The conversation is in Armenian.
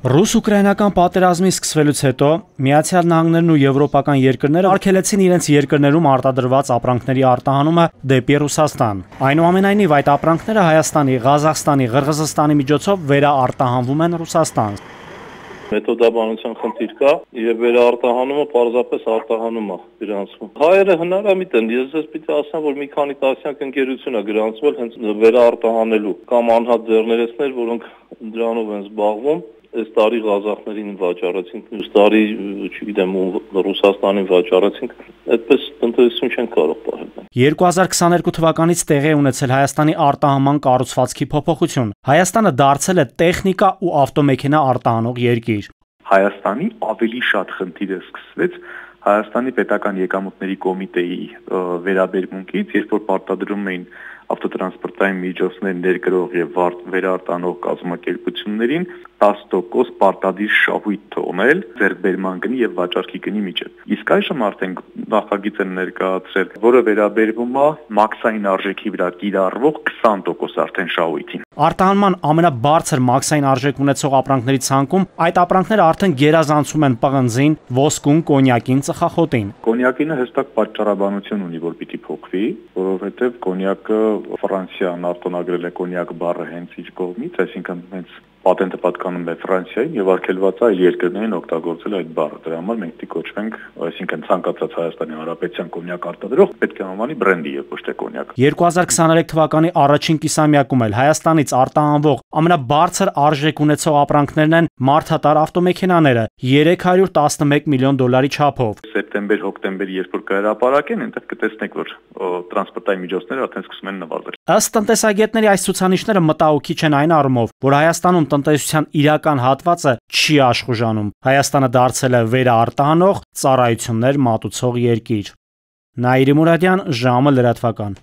Ռուս-ուկրաինական պատերազմի սկսվելուց հետո Միացյալ Նահանգներն ու եվրոպական երկրները արգելեցին իրենց երկրներում արտադրված ապրանքների արտահանումը դեպի Ռուսաստան։ Այնուամենայնիվ այդ ապրանքները Հայաստանի, Ղազախստանի, Ղրղզստանի միջոցով վերաարտահանվում են Ռուսաստան։ Մեթոդաբանության խնդիր կա եւ վերարտահանումը պարզապես արտահանում է գրանցվում։ Հայերը հնարամիտ են, ես պիտի ասեմ, որ մի քանի տասնյակ ընկերություն է գրանցվել հենց վերարտահանելու կամ անհատ ձեռներեցներ, որոնք դրանով են զբաղվում։ Այս տարի Ղազախներին վաճառեցինք, մյուս տարի, չգիտեմ, Ռուսաստանին վաճառեցինք, այդպես տնտեսություն չեն կարող պահել։ 2022 թվականից տեղի է ունեցել Հայաստանի արտահանման կառուցվածքի փոփոխություն։ Հայաստանը դարձել է տեխնիկա ու ավտոմեքենա արտահանող երկիր։ Հայաստանի ավելի շատ խնդիր է սկսվեց Հայաստանի պետական եկամուտների կոմիտեի վերաբերմունքից, երբ որ պարտադրում էին ավտոտրանսպորտային միջոցներ ներկրող եւ վերարտանող կազմակերպություններին 10% պարտադիր շահույթ թողնել ձեռքբերման գնի եւ վաճառքի գնի միջեւ։ Իսկ այժմ արդեն նախագիծ են ներկայացրել, որը վերաբերվում է մաքսային արժեքի վրա կիրառվող 20% արդեն շահույթին։ Արտահանման ամենաբարձր մաքսային արժեք ունեցող ապրանքների ցանկում այդ ապրանքները արդեն գերազանցում են պղնձին, ոսկուն, կոնյակին, ծխախոտին։ Կոնյակինը հստակ պատճառաբանություն ունի, որ պիտի փոխվի, որովհետեւ կոնյակը Ֆրանսիան արտոնագրել է կոնյակ բառը հենց իր կողմից, այսինքն հենց պատենտը պատկանում է Ֆրանսիային եւ արգելված է այլ երկրներին օգտագործել այդ բառը։ Դրա համար մենք պիտի կոչվենք, այսինքն ցանկացած Հայաստանի Հանրապետության կոնյակ արտադրող պետք է անվանի բրենդի եւ ոչ թե կոնյակ։ 2023 թվականի առաջին կիսամյակում էլ Հայաստանից արտահանվող ամենաբարձր արժեք ունեցող ապրանքներն են մարդատար ավտոմեքենաները 311 միլիոն դոլարի չափով։ Սեպտեմբեր-հոկտեմբեր, երբ որ կհրապարակեն, այնտեղ կտեսնեք, որ տրանսպորտային միջոցները արդեն սկսում են նվազել։ Ըստ տնտեսագետների այս ցուցանիշները մտահոգիչ են այն առումով, որ Հայաստանում տնտեսության իրական հատվածը չի աշխուժանում։ Հայաստանը դարձել է վերաարտահանող, ծառայություններ մատուցող երկիր։ Նաիրի Մուրադյան, ժամը լրատվական։